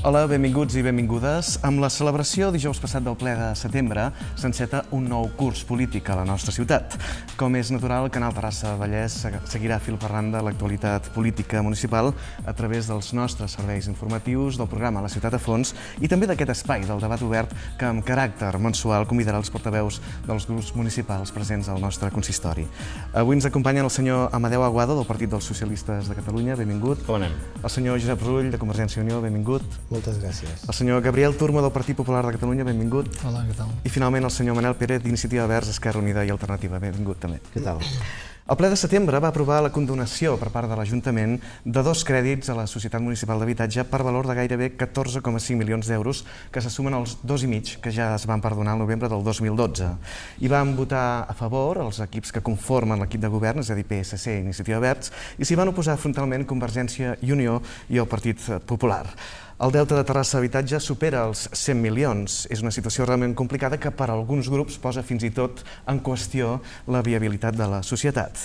Hola, benvinguts i benvingudes. Amb la celebració dijous passat del ple de setembre s'enceta un nou curs polític a la nostra ciutat. Com és natural, el Canal Terrassa-Vallès seguirà fil per randa l'actualitat política municipal a través dels nostres serveis informatius, del programa La Ciutat a Fons i també d'aquest espai del debat obert que amb caràcter mensual convidarà els portaveus dels grups municipals presents al nostre consistori. Avui ens acompanyen el senyor Amadeu Aguado del Partit dels Socialistes de Catalunya, benvingut. Com anem? El senyor Josep Rull de Convergència i Unió, benvingut. Moltes gràcies. El senyor Gabriel Turmo del Partit Popular de Catalunya, benvingut. Hola, què tal? I finalment el senyor Manel Pérez d'Iniciativa Verds, Esquerra Unida i Alternativa, benvingut també. Què tal? El ple de setembre va aprovar la condonació per part de l'Ajuntament de 2 crèdits a la Societat Municipal d'Habitatge per valor de gairebé 14,5 milions d'euros que se sumen als 2,5 que ja es van perdonar al novembre del 2012. I van votar a favor els equips que conformen l'equip de govern, és a dir, PSC i Iniciativa Verds, i s'hi van oposar frontalment Convergència i Unió i el Partit Popular. El deute de Terrassa Habitatge supera els 100 milions. És una situació realment complicada que per a alguns grups posa fins i tot en qüestió la viabilitat de la societat.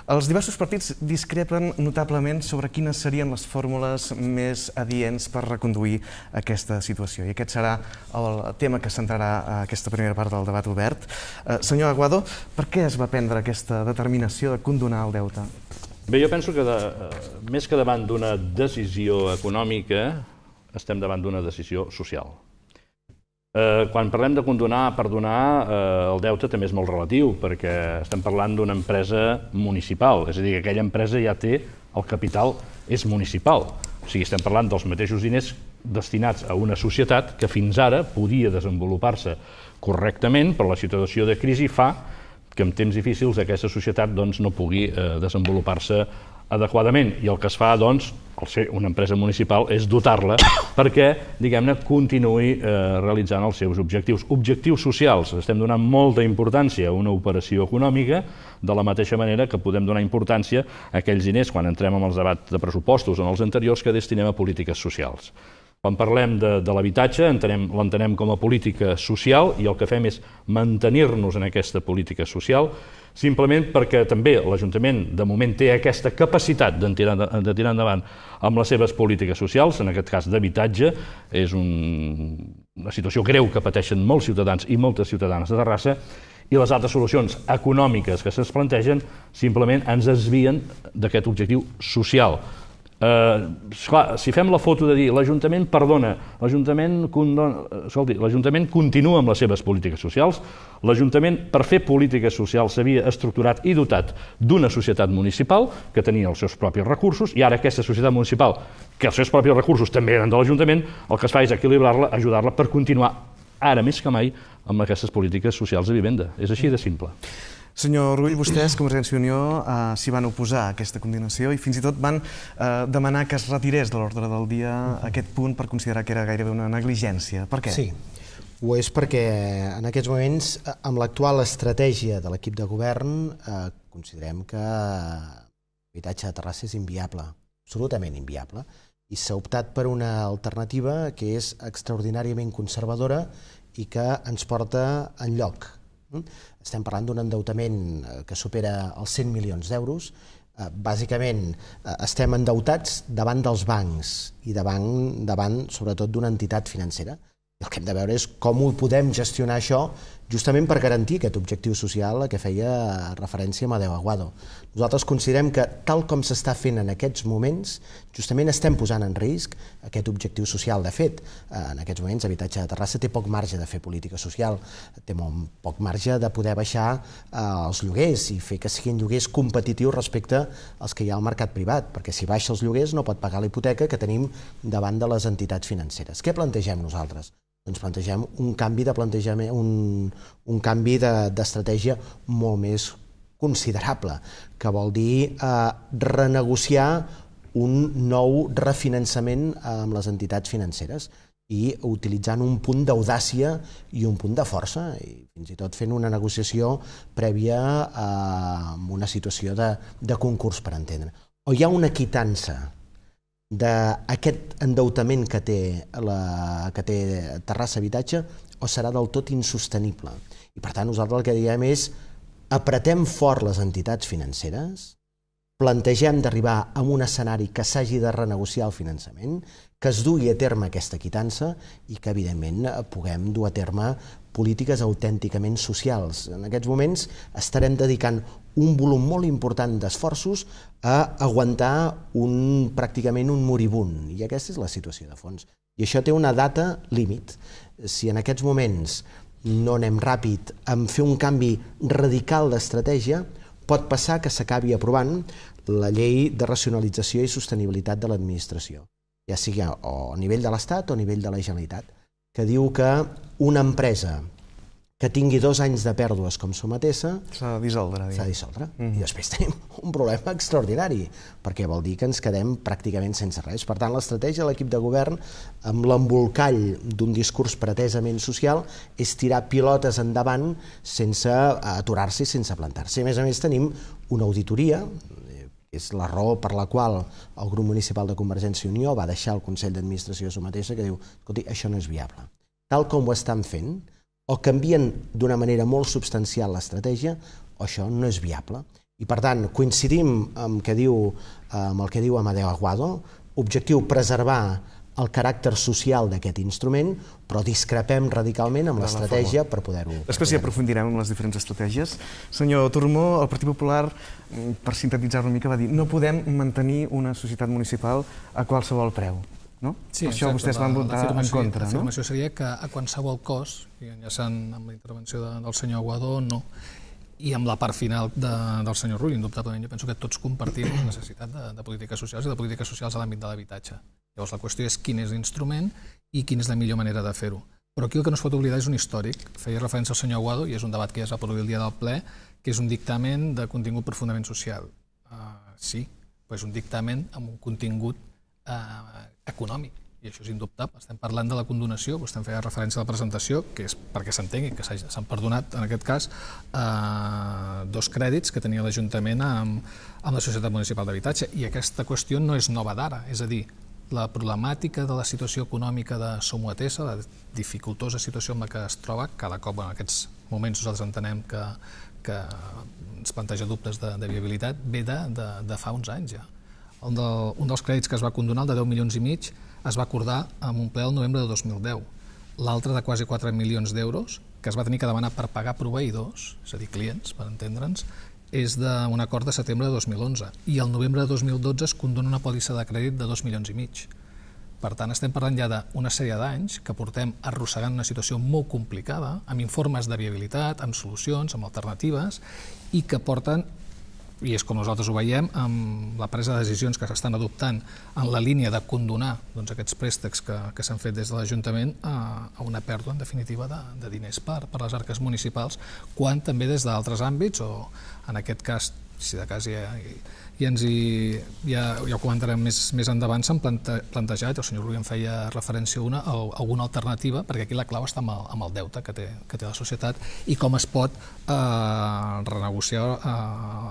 Els diversos partits discrepen notablement sobre quines serien les fórmules més adients per reconduir aquesta situació. I aquest serà el tema que centrarà aquesta primera part del debat obert. Senyor Aguado, per què es va prendre aquesta determinació de condonar el deute? Bé, jo penso que més que davant d'una decisió econòmica, estem davant d'una decisió social. Quan parlem de condonar, perdonar, el deute també és molt relatiu, perquè estem parlant d'una empresa municipal, és a dir, que aquella empresa ja té el capital, és municipal. O sigui, estem parlant dels mateixos diners destinats a una societat que fins ara podia desenvolupar-se correctament, però la situació de crisi fa que en temps difícils aquesta societat no pugui desenvolupar-se adequadament. I el que es fa, al ser una empresa municipal, és dotar-la perquè, diguem-ne, continuï realitzant els seus objectius. Objectius socials. Estem donant molta importància a una operació econòmica, de la mateixa manera que podem donar importància a aquells diners, quan entrem en els debats de pressupostos o en els anteriors, que destinem a polítiques socials. Quan parlem de l'habitatge, l'entenem com a política social i el que fem és mantenir-nos en aquesta política social, simplement perquè també l'Ajuntament de moment té aquesta capacitat de tirar endavant amb les seves polítiques socials, en aquest cas d'habitatge. És una situació greu que pateixen molts ciutadans i moltes ciutadanes de Terrassa, i les altres solucions econòmiques que se'ns plantegen simplement ens desvien d'aquest objectiu social. Esclar, si fem la foto de dir l'Ajuntament perdona, l'Ajuntament continua amb les seves polítiques socials, l'Ajuntament per fer polítiques socials s'havia estructurat i dotat d'una societat municipal que tenia els seus propis recursos, i ara aquesta societat municipal, que els seus propis recursos també eren de l'Ajuntament, el que es fa és equilibrar-la, ajudar-la per continuar ara més que mai amb aquestes polítiques socials de vivenda. És així de simple. Senyor Rull, vostès, Convergència i Unió, s'hi van oposar a aquesta condonació i fins i tot van demanar que es retirés de l'ordre del dia aquest punt per considerar que era gairebé una negligència. Per què? Sí, ho és perquè en aquests moments, amb l'actual estratègia de l'equip de govern, considerem que l'habitatge de Terrassa és inviable, absolutament inviable, i s'ha optat per una alternativa que és extraordinàriament conservadora i que ens porta enlloc. Estem parlant d'un endeutament que supera els 100 milions d'euros. Bàsicament estem endeutats davant dels bancs i davant sobretot d'una entitat financera. El que hem de veure és com ho podem gestionar això justament per garantir aquest objectiu social a què feia referència Amadeu Aguado. Nosaltres considerem que tal com s'està fent en aquests moments, justament estem posant en risc aquest objectiu social. De fet, en aquests moments Habitatge de Terrassa té poc marge de fer política social, té molt poc marge de poder baixar els lloguers i fer que siguin lloguers competitius respecte als que hi ha al mercat privat, perquè si baixa els lloguers no pot pagar la hipoteca que tenim davant de les entitats financeres. Què plantegem nosaltres? Doncs plantegem un canvi de plantejament, un canvi d'estratègia molt més considerable, que vol dir renegociar un nou refinançament amb les entitats financeres i utilitzant un punt d'audàcia i un punt de força, i fins i tot fent una negociació prèvia a una situació de concurs, per entendre. O hi ha una quitança d'aquest endeutament que té Terrassa Habitatge, o serà del tot insostenible. I per tant nosaltres el que diem és apretem fort les entitats financeres, plantegem d'arribar a un escenari que s'hagi de renegociar el finançament, que es dugui a terme aquesta quitança i que, evidentment, puguem dur a terme polítiques autènticament socials. En aquests moments estarem dedicant un volum molt important d'esforços a aguantar pràcticament un moribund, i aquesta és la situació de fons. I això té una data límit. Si en aquests moments no anem ràpid en fer un canvi radical d'estratègia, pot passar que s'acabi aprovant la llei de racionalització i sostenibilitat de l'administració, ja sigui a nivell de l'Estat o a nivell de la Generalitat, que diu que una empresa que tingui 2 anys de pèrdues com Somatesa s'ha de dissoldre. S'ha de dissoldre. I després tenim un problema extraordinari, perquè vol dir que ens quedem pràcticament sense res. Per tant, l'estratègia de l'equip de govern, amb l'embolcall d'un discurs pretesament social, és tirar pilotes endavant sense aturar-se i sense plantar-se. A més, tenim una auditoria, és la raó per la qual el grup municipal de Convergència i Unió va deixar el Consell d'Administració de Somatesa, que diu, escolti, això no és viable. Tal com ho estan fent, o canvien d'una manera molt substancial l'estratègia, o això no és viable. I, per tant, coincidim amb el que diu Amadeu Aguado, objectiu preservar el caràcter social d'aquest instrument, però discrepem radicalment amb l'estratègia per poder-ho... Després hi aprofundirem en les diferents estratègies. Senyor Tormó, el Partit Popular, per sintetitzar una mica, va dir no podem mantenir una societat municipal a qualsevol preu. Sí, per això vostès van votar en contra. L'afirmació seria que a qualsevol cost, i enllaçant amb la intervenció del senyor Aguado, no. I amb la part final del senyor Rull, indubtablement, jo penso que tots compartim la necessitat de polítiques socials i de polítiques socials a l'àmbit de l'habitatge. Llavors la qüestió és quin és l'instrument i quina és la millor manera de fer-ho. Però aquí el que no es pot oblidar és un històric. Feia referència al senyor Aguado, i és un debat que ja es va produir el dia del ple, que és un dictamen de contingut profundament social. Sí, però és un dictamen amb un contingut econòmic, i això és indubtable. Estem parlant de la condonació, vostè em feia referència a la presentació, que és perquè s'entengui que s'han perdonat, en aquest cas, 2 crèdits que tenia l'Ajuntament amb la Societat Municipal d'Habitatge, i aquesta qüestió no és nova d'ara, és a dir, la problemàtica de la situació econòmica de Somatesa, la dificultosa situació en la que es troba, cada cop en aquests moments nosaltres entenem que ens planteja dubtes de viabilitat, ve de fa uns anys ja. Un dels crèdits que es va condonar, el de 10,5 milions, es va acordar en un ple el novembre de 2010. L'altre, de quasi 4 milions d'euros, que es va tenir que demanar per pagar proveïdors, és a dir, clients, per entendre'ns, és d'un acord de setembre de 2011. I el novembre de 2012 es condona una pòlissa de crèdit de 2,5 milions. Per tant, estem parlant ja d'una sèrie d'anys que portem arrossegant una situació molt complicada, amb informes de viabilitat, amb solucions, amb alternatives, i que porten, i és com nosaltres ho veiem, amb la presa de decisions que s'estan adoptant en la línia de condonar aquests préstecs que s'han fet des de l'Ajuntament a una pèrdua, en definitiva, de diners per les arques municipals, quan també des d'altres àmbits, o en aquest cas, si de cas ja ho comentarem més endavant, s'han plantejat, el senyor Rull en feia referència a alguna alternativa, perquè aquí la clau està amb el deute que té la societat i com es pot renegociar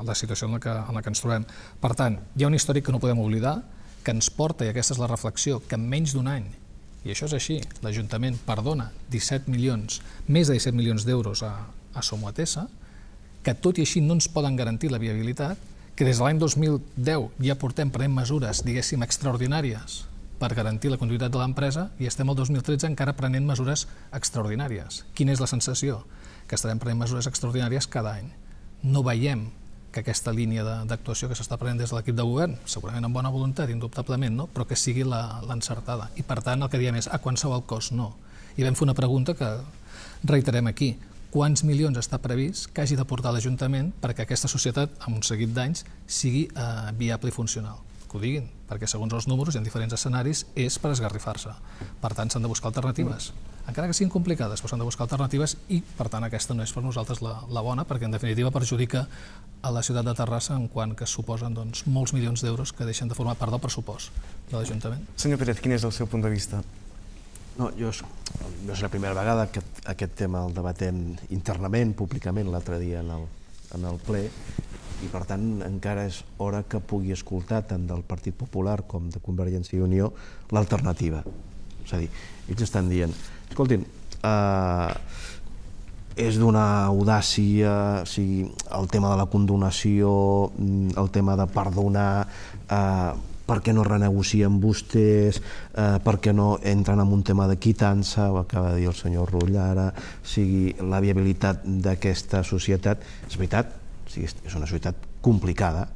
la situació en la que ens trobem. Per tant, hi ha un històric que no podem oblidar, que ens porta, i aquesta és la reflexió, que en menys d'un any, i això és així, l'Ajuntament perdona més de 17 milions d'euros a Somatesa, que tot i així no ens poden garantir la viabilitat, que des de l'any 2010 ja portem prenent mesures, diguéssim, extraordinàries per garantir la continuïtat de l'empresa i estem al 2013 encara prenent mesures extraordinàries. Quina és la sensació? Que estarem prenent mesures extraordinàries cada any. No veiem que aquesta línia d'actuació que s'està prenent des de l'equip de govern, segurament amb bona voluntat, indubtablement, no? Però que sigui l'encertada. I per tant el que diem és a qualsevol cost no. I vam fer una pregunta que reiterem aquí. Quants milions està previst que hagi d'aportar l'Ajuntament perquè aquesta societat, amb un seguit d'anys, sigui viable i funcional? Que ho diguin, perquè segons els números i en diferents escenaris és per esgarrifar-se. Per tant, s'han de buscar alternatives. Encara que siguin complicades, però s'han de buscar alternatives i, per tant, aquesta no és per nosaltres la bona, perquè en definitiva perjudica a la ciutat de Terrassa en quant que suposen molts milions d'euros que deixen de formar part del pressupost de l'Ajuntament. Senyor Pérez, quin és el seu punt de vista? No és la primera vegada que aquest tema el debatem internament, públicament, l'altre dia en el ple, i per tant encara és hora que pugui escoltar tant del Partit Popular com de Convergència i Unió l'alternativa. És a dir, ells estan dient, escoltin, és d'una audàcia, el tema de la condonació, el tema de perdonar, per què no renegocien vostès, per què no entren en un tema de quitança, ho acaba de dir el senyor Rull ara, sigui la viabilitat d'aquesta societat. És veritat, és una societat complicada,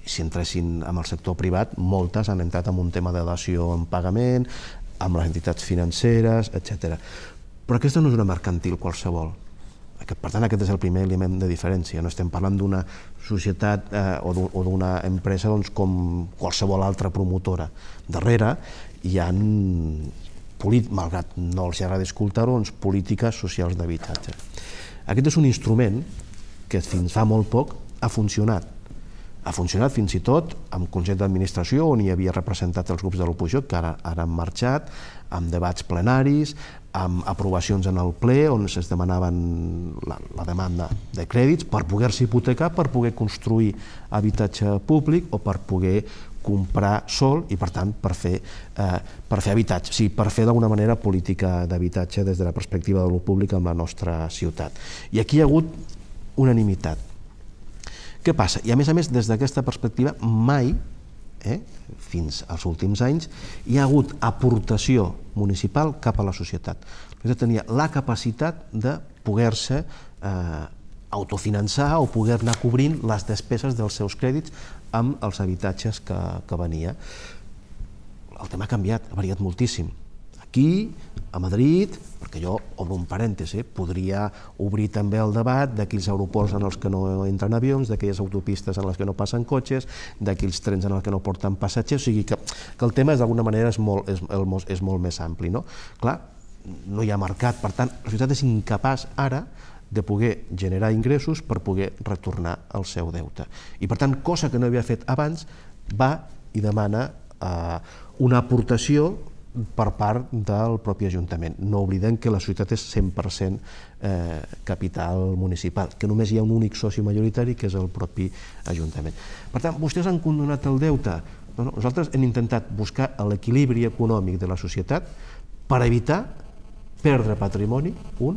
si entressin en el sector privat, moltes han entrat en un tema de dació en pagament, amb les entitats financeres, etc. Però aquesta no és una mercantil qualsevol. Per tant, aquest és el primer element de diferència. No estem parlant d'una societat o d'una empresa com qualsevol altra promotora. Darrere hi ha, malgrat no els agrada escoltar-ho, polítiques socials d'habitatge. Aquest és un instrument que fins fa molt poc ha funcionat. Ha funcionat fins i tot amb Consell d'Administració, on hi havia representats els grups de l'oposició, que ara han marxat, amb debats plenaris, amb aprovacions en el ple, on es demanaven la demanda de crèdits per poder-se hipotecar, per poder construir habitatge públic o per poder comprar sol i, per tant, per fer habitatge, o sigui, per fer d'alguna manera política d'habitatge des de la perspectiva de lo públic en la nostra ciutat. I aquí hi ha hagut unanimitat. Què passa? I a més, des d'aquesta perspectiva, mai, fins als últims anys, hi ha hagut aportació municipal cap a la societat. Tenia la capacitat de poder-se autofinançar o poder anar cobrint les despeses dels seus crèdits amb els habitatges que venia. El tema ha canviat, ha variat moltíssim. Aquí, a Madrid, perquè jo obro un parèntesi, podria obrir també el debat d'aquells aeroports en els que no entren avions, d'aquelles autopistes en les que no passen cotxes, d'aquells trens en els que no porten passatgers, o sigui que el tema d'alguna manera és molt més ampli. Clar, no hi ha mercat, per tant, la societat és incapaç ara de poder generar ingressos per poder retornar el seu deute. I per tant, cosa que no havia fet abans, va i demana una aportació per part del propi Ajuntament. No oblidem que la societat és 100% capital municipal, que només hi ha un únic soci majoritari, que és el propi Ajuntament. Per tant, vostès han condonat el deute. Nosaltres hem intentat buscar l'equilibri econòmic de la societat per evitar perdre patrimoni, un.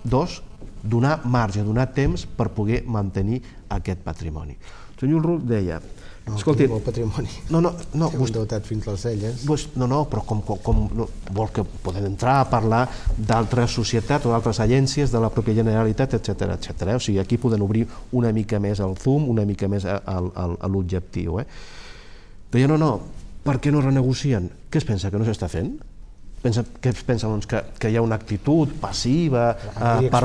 Dos, donar marge, donar temps per poder mantenir aquest patrimoni. El senyor Rull deia... Escolti, el patrimoni. Estem endeutats fins les celles. Però com vol que podem entrar a parlar d'altres societats o d'altres agències de la pròpia Generalitat, etc. O sigui, aquí podem obrir una mica més el zoom, una mica més a l'objectiu. Deia, per què no renegocien? Què es pensa, que no s'està fent? Què es pensa que hi ha una actitud passiva per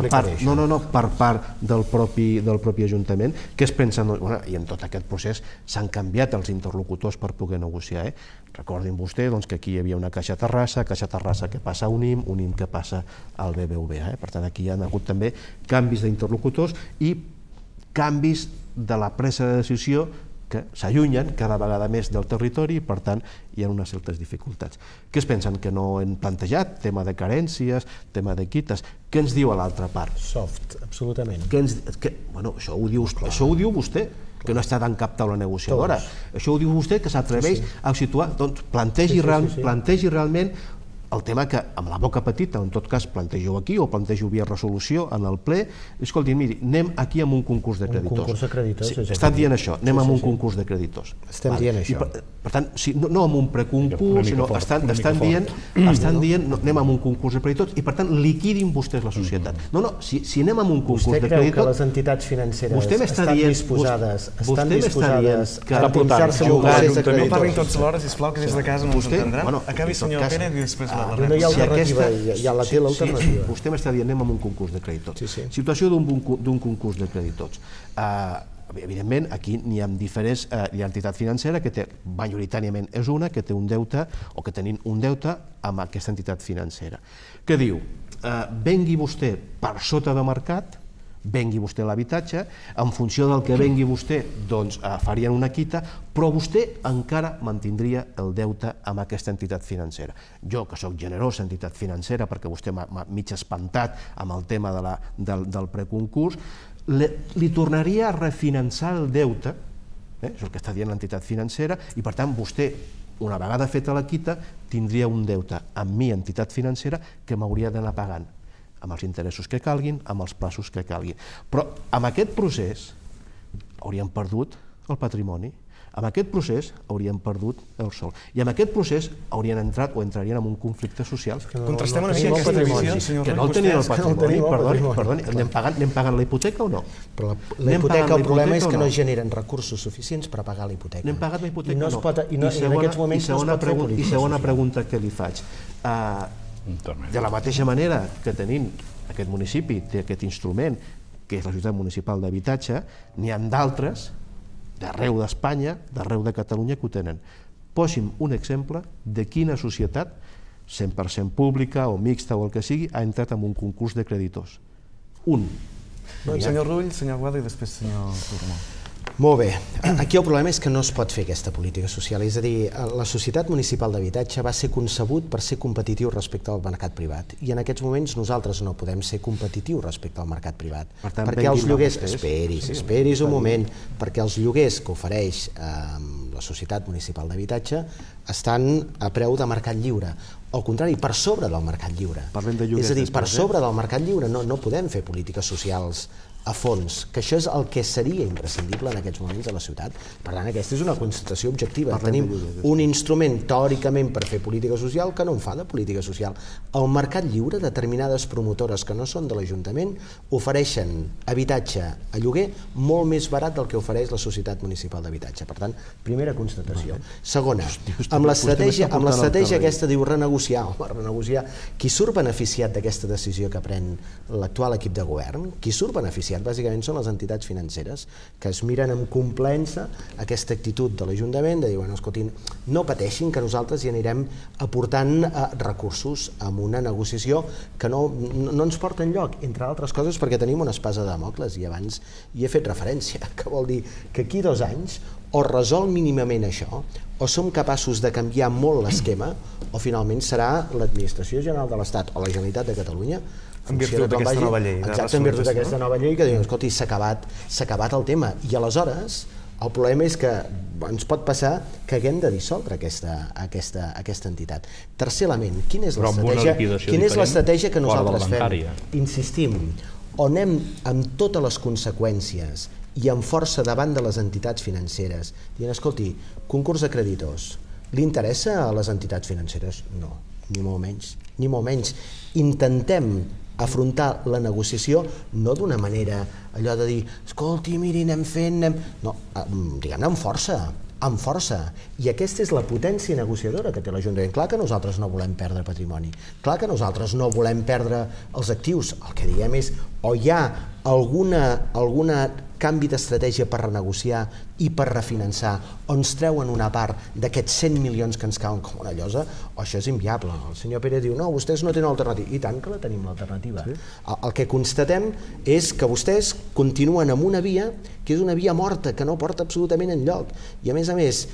part del propi Ajuntament? Què es pensa? I en tot aquest procés s'han canviat els interlocutors per poder negociar. Recordin vostè que aquí hi havia una Caixa Terrassa que passa a UNIM que passa al BBVA. Per tant, aquí hi ha hagut també canvis d'interlocutors i canvis de la presa de decisió que s'allunyen cada vegada més del territori i, per tant, hi ha unes certes dificultats. Què es pensen? Que no hem plantejat? Tema de carències, tema de quites. Què ens diu a l'altra part? Soft, absolutament. Això ho diu vostè, que no està tan cap taula negociadora. Això ho diu vostè, que s'atreveix a situar. Doncs plantegi realment el tema que, amb la boca petita, en tot cas plantego aquí o plantego via resolució en el ple, escolti, miri, anem aquí amb un concurs de creditors. Un concurs de creditors. Estan dient això, anem amb un concurs de creditors. Estem dient això. Per tant, no amb un preconcurs, sinó estan dient anem amb un concurs de creditors i, per tant, liquidin vostès la societat. Si anem amb un concurs de creditors... Vostè creu que les entitats financeres estan disposades a endinsar-se en un procés de creditors? No parlin tots alhora, sisplau, que des de casa no ens entendran. Acabi, senyor Pérez, i després no hi ha alternativa, ja la té l'alternativa. Vostè m'està dient anem amb un concurs de creditors. Situació d'un concurs de creditors. Evidentment, aquí n'hi ha diferents. Hi ha entitat financera que té, majoritàriament és una, que té un deute o que tenim un deute amb aquesta entitat financera. Què diu? Vengui vostè per sota de mercat, vengui vostè l'habitatge, en funció del que vengui vostè, doncs farien una quita, però vostè encara mantindria el deute amb aquesta entitat financera. Jo, que sóc generós entitat financera, perquè vostè m'ha mig espantat amb el tema del preconcurs, li tornaria a refinançar el deute, és el que està dient l'entitat financera, i per tant vostè, una vegada feta la quita, tindria un deute amb mi, entitat financera, que m'hauria d'anar pagant amb els interessos que calguin, amb els plaços que calguin. Però amb aquest procés hauríem perdut el patrimoni. Amb aquest procés haurien perdut el sol. I amb aquest procés haurien entrat o entrarien en un conflicte social. Contrastem una mica aquesta visió, senyor Rull. Que no el tenien el patrimoni, perdoni, anem pagant la hipoteca o no? Però la hipoteca, el problema és que no generen recursos suficients per pagar la hipoteca. N'hem pagat la hipoteca o no? I en aquests moments no es pot fer política. I segona pregunta que li faig. De la mateixa manera que tenim aquest municipi, té aquest instrument, que és la Societat Municipal d'Habitatge, n'hi ha d'altres d'arreu d'Espanya, d'arreu de Catalunya que ho tenen. Posi'm un exemple de quina societat, 100% pública o mixta o el que sigui, ha entrat en un concurs de creditors. Un. Senyor Rull, senyor Aguado i després senyor Turmó. Molt bé. Aquí el problema és que no es pot fer aquesta política social. És a dir, la Societat Municipal d'Habitatge va ser concebut per ser competitiu respecte al mercat privat. I en aquests moments nosaltres no podem ser competitius respecte al mercat privat. Perquè els lloguers... Esperis un moment. Perquè els lloguers que ofereix la Societat Municipal d'Habitatge estan a preu de mercat lliure. Al contrari, per sobre del mercat lliure. És a dir, per sobre del mercat lliure no podem fer polítiques socials a fons, que això és el que seria imprescindible en aquests moments a la ciutat. Per tant, aquesta és una constatació objectiva. Tenim un instrument teòricament per fer política social que no en fa de política social. Al mercat lliure, determinades promotores que no són de l'Ajuntament ofereixen habitatge a lloguer molt més barat del que ofereix la Societat Municipal d'Habitatge. Per tant, primera constatació. Segona, amb l'estratègia aquesta diu renegociar. Qui surt beneficiat d'aquesta decisió que pren l'actual equip de govern, qui surt beneficiat bàsicament són les entitats financeres que es miren amb complaença aquesta actitud de l'Ajuntament de dir, bueno, escoltin, no pateixin que nosaltres hi anirem aportant recursos amb una negociació que no ens porta enlloc, entre altres coses perquè tenim una espasa de Dàmocles i abans hi he fet referència, que vol dir que aquí 2 anys o resol mínimament això o som capaços de canviar molt l'esquema o finalment serà l'Administració General de l'Estat o la Generalitat de Catalunya en virtut d'aquesta nova llei. Exacte, en virtut d'aquesta nova llei que diuen, escolti, s'ha acabat el tema. I aleshores el problema és que ens pot passar que haguem de dissoldre aquesta entitat. Tercer element, quina és l'estratègia que nosaltres fem? Insistim, o anem amb totes les conseqüències i amb força davant de les entitats financeres, dient, escolti, concurs de creditors, li interessa a les entitats financeres? No, ni molt menys. Ni molt menys. Intentem afrontar la negociació no d'una manera allò de dir, escolti, miri, anem fent... No, diguem-ne amb força. I aquesta és la potència negociadora que té l'Ajuntament. Clar que nosaltres no volem perdre patrimoni, clar que nosaltres no volem perdre els actius. El que diem és, o hi ha alguna canvi d'estratègia per renegociar i per refinançar, o ens treuen una part d'aquests 100 milions que ens cauen com una llosa, o això és inviable. El senyor Pérez diu, no, vostès no tenen alternativa. I tant que la tenim, l'alternativa. El que constatem és que vostès continuen amb una via que és una via morta, que no porta absolutament enlloc. I a més,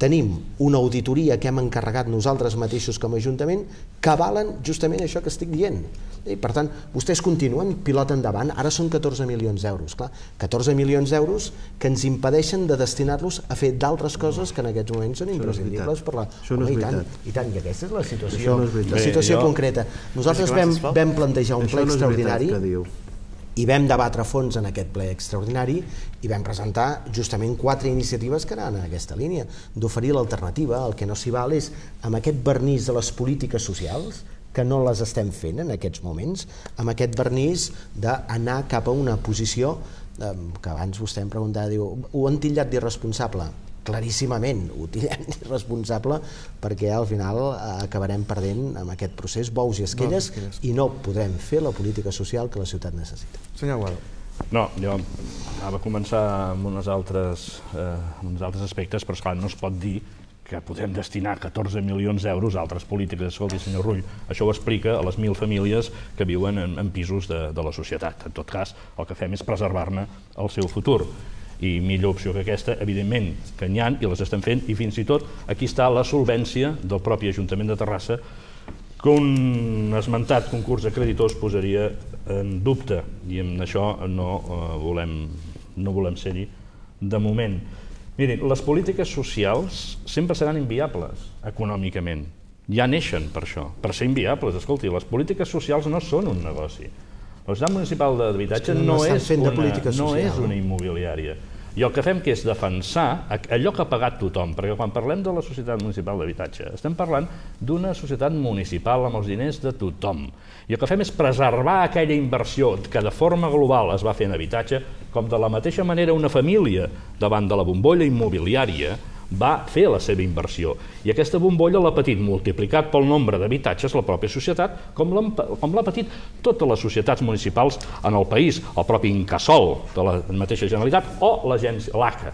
tenim una auditoria que hem encarregat nosaltres mateixos com a Ajuntament que avalen justament això que estic dient. I, per tant, vostès continuen, pilot endavant, ara són 14 milions d'euros. Clar, 14 milions d'euros que ens impedeixen de destinar-los a fer d'altres coses que en aquests moments són imprescindibles per la... I tant, i aquesta és la situació concreta. Nosaltres vam plantejar un ple extraordinari i vam debatre a fons en aquest ple extraordinari i vam presentar justament 4 iniciatives que anaven en aquesta línia, d'oferir l'alternativa. El que no s'hi val és, amb aquest vernís de les polítiques socials, que no les estem fent en aquests moments, amb aquest vernís d'anar cap a una posició que abans vostè em preguntava, diu, ho han titllat d'irresponsable? Claríssimament, ho tindrem d'irresponsable perquè al final acabarem perdent amb aquest procés bous i esquelles i no podrem fer la política social que la ciutat necessita. Senyor Aguado. No, jo anava a començar amb uns altres aspectes, però esclar, no es pot dir que podem destinar 14 milions d'euros a altres polítiques. Escolti, senyor Rull, això ho explica a les 1.000 famílies que viuen en pisos de la societat. En tot cas, el que fem és preservar-ne el seu futur. I millor opció que aquesta, evidentment, que n'hi ha i les estem fent, i fins i tot aquí està la solvència del propi Ajuntament de Terrassa, que un esmentat concurs de creditors posaria en dubte, i amb això no volem ser-hi de moment. Mirin, les polítiques socials sempre seran inviables econòmicament. Ja neixen per això, per ser inviables. Escolti, les polítiques socials no són un negoci. La Societat Municipal d'Habitatge no és una immobiliària. I el que fem que és defensar allò que ha pagat tothom, perquè quan parlem de la Societat Municipal d'Habitatge estem parlant d'una societat municipal amb els diners de tothom. I el que fem és preservar aquella inversió que de forma global es va fer en habitatge, com de la mateixa manera una família davant de la bombolla immobiliària va fer la seva inversió. I aquesta bombolla l'ha patit multiplicat pel nombre d'habitatges la pròpia societat, com l'ha patit totes les societats municipals en el país, el propi Incasòl de la mateixa Generalitat o l'agència, l'ACA.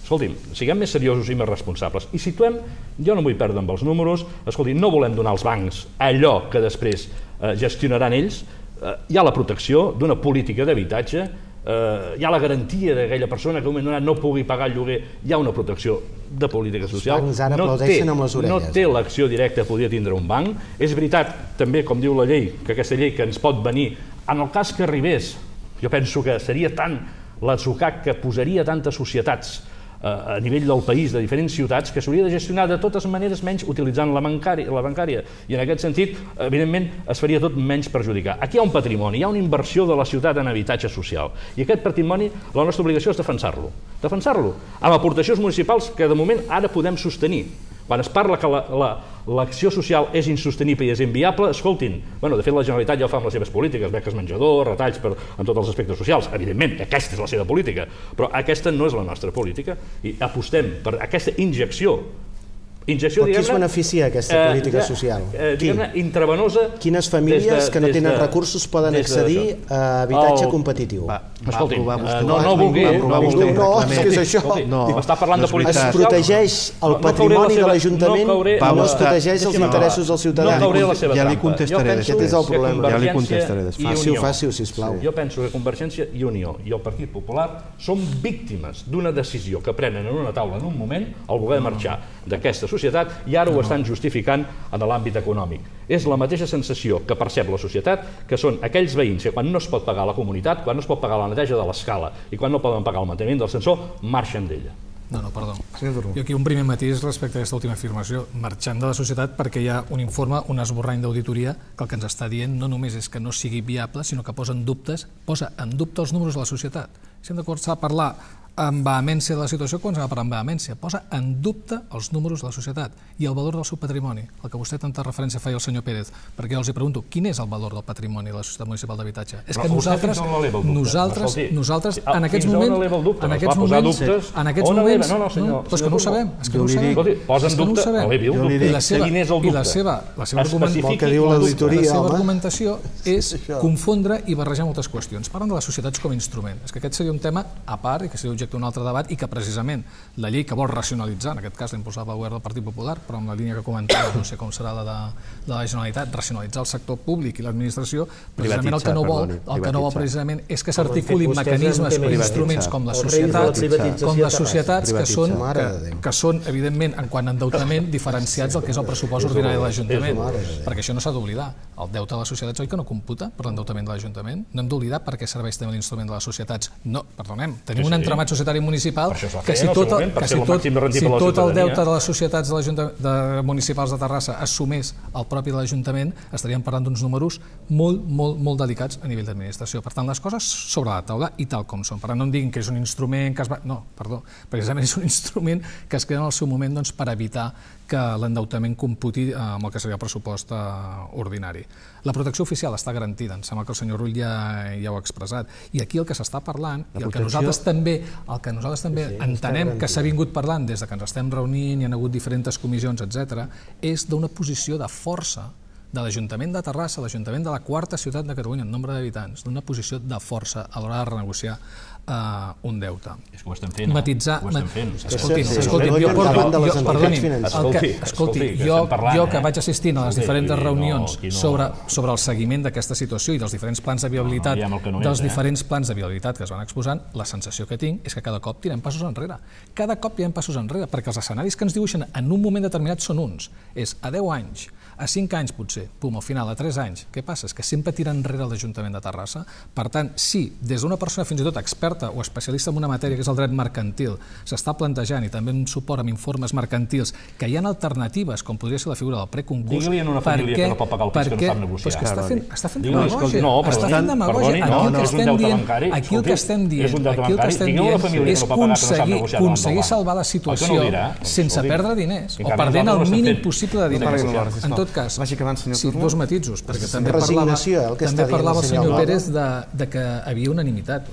Escolti'm, siguem més seriosos i més responsables. I situem, jo no vull perdre amb els números, escolti, no volem donar als bancs allò que després gestionaran ells. Hi ha la protecció d'una política d'habitatge, hi ha la garantia d'aquella persona que en un moment donat no pugui pagar el lloguer, hi ha una protecció de política social, no té l'acció directa que podria tindre un banc. És veritat, també, com diu la llei, que aquesta llei que ens pot venir, en el cas que arribés, jo penso que seria tant l'atzucac que posaria tantes societats a nivell del país, de diferents ciutats, que s'hauria de gestionar de totes maneres menys utilitzant la bancària. I en aquest sentit, evidentment, es faria tot menys perjudicar. Aquí hi ha un patrimoni, hi ha una inversió de la ciutat en habitatge social. I aquest patrimoni, la nostra obligació és defensar-lo. Defensar-lo amb aportacions municipals que de moment ara podem sostenir. Quan es parla que l'acció social és insostenible i és inviable, escoltin, de fet la Generalitat ja ho fa amb les seves polítiques, beques menjador, retalls en tots els aspectes socials, evidentment, aquesta és la seva política, però aquesta no és la nostra política i apostem per aquesta injecció. Però qui es beneficia d'aquesta política social? Intravenosa. Quines famílies que no tenen recursos poden accedir a habitatge competitiu? Escolti, no vulgui. No, és que és això. M'està parlant de política social. Es protegeix el patrimoni de l'Ajuntament i no es protegeix els interessos dels ciutadans. No cauré la seva trampa. Ja li contestaré després. Aquest és el problema. Ja li contestaré després. Fàcil, sisplau. Jo penso que Convergència i Unió i el Partit Popular són víctimes d'una decisió que prenen en una taula en un moment el voler marxar d'aquesta societat i ara ho estan justificant en l'àmbit econòmic. És la mateixa sensació que percep la societat, que són aquells veïns que quan no es pot pagar la comunitat, quan no es pot pagar la neteja de l'escala i quan no poden pagar el manteniment del ascensor, marxen d'ella. No, perdó. Jo aquí un primer matís respecte a aquesta última afirmació. Marxant de la societat perquè hi ha un informe, un esborrany d'auditoria, que el que ens està dient no només és que no sigui viable, sinó que posa en dubte els números de la societat. Si hem de començar a parlar amb vehemència de la situació, quan s'ha de parlar amb vehemència, posa en dubte els números de la societat i el valor del seu patrimoni, el que vostè tanta referència feia el senyor Pérez, perquè jo els pregunto, quin és el valor del patrimoni de la Societat Municipal d'Habitatge? És que nosaltres en aquests moments, però és que no ho sabem, és que no ho sabem. I la seva argumentació és confondre i barrejar moltes qüestions. Parlen de les societats com a instrument. És que aquest seria un tema a part i que seria objecte d'un altre debat i que precisament la llei que vol racionalitzar, en aquest cas la impulsava el govern del Partit Popular, però amb la línia que comentava, no sé com serà la de la Generalitat, racionalitzar el sector públic i l'administració, precisament el que no vol precisament és que s'articulin mecanismes o instruments com les societats que són, evidentment, en quant a endeutament, diferenciats del que és el pressupost ordinari de l'Ajuntament, perquè això no s'ha d'oblidar. El deute de les societats, oi que no computa per l'endeutament de l'Ajuntament? No hem d'oblidar per què serveix també l'instrument de les societats. No, perdonem, tenim un entramat societari municipal que si tot el deute de les societats municipals de Terrassa assumés el propi de l'Ajuntament, estaríem parlant d'uns números molt delicats a nivell d'administració. Per tant, les coses sobre la taula i tal com són. Per tant, no em diguin que és un instrument que es va... No, perdó, precisament és un instrument que es crea en el seu moment per evitar que l'endeutament computi amb el que seria el pressupost ordinari. La protecció oficial està garantida, em sembla que el senyor Rull ja ho ha expressat. I aquí el que s'està parlant, i el que nosaltres també entenem que s'ha vingut parlant des que ens estem reunint, hi ha hagut diferents comissions, etc., és d'una posició de força de l'Ajuntament de Terrassa, l'Ajuntament de la quarta ciutat de Catalunya en nombre d'habitants, d'una posició de força a l'hora de renegociar un deute. És que ho estem fent, Escolti, jo que vaig assistint a les diferents reunions sobre el seguiment d'aquesta situació i dels diferents plans de viabilitat que es van exposant, la sensació que tinc és que cada cop tirem passos enrere. Cada cop tirem passos enrere, perquè els escenaris que ens dibuixen en un moment determinat són uns. És a 10 anys, a 5 anys potser, 12, pum, al final, a 3 anys. Què passa? És que sempre tira enrere l'Ajuntament de Terrassa. Per tant, si des d'una persona fins i tot experta o especialista en una matèria que és el dret mercantil s'està plantejant, i també en suport amb informes mercantils, que hi ha alternatives, com podria ser la figura del preconcurs... Digue-li en una família que no pot pagar el pis que no sap negociar. Però és que està fent demagògia. No, està fent demagògia. Aquí el que estem dient, és aconseguir salvar la situació sense perdre diners, o perdent el mínim possible de diners. En tot cas, dos matisos, perquè també parlava el senyor Pérez de que havia unanimitat,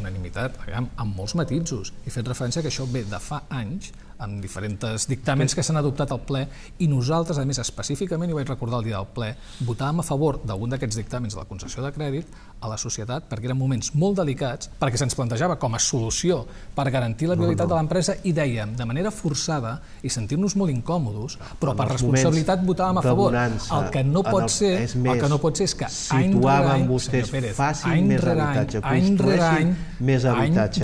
amb molts matisos, i fet referència que això ve de fa anys, amb diferents dictàmens que s'han adoptat al ple, i nosaltres, a més, específicament, i ho vaig recordar el dia del ple, votàvem a favor d'algun d'aquests dictàmens de la concessió de crèdit a la societat, perquè eren moments molt delicats, perquè se'ns plantejava com a solució per garantir la viabilitat de l'empresa, i dèiem, de manera forçada, i sentir-nos molt incòmodos, però per responsabilitat votàvem a favor. El que no pot ser és que any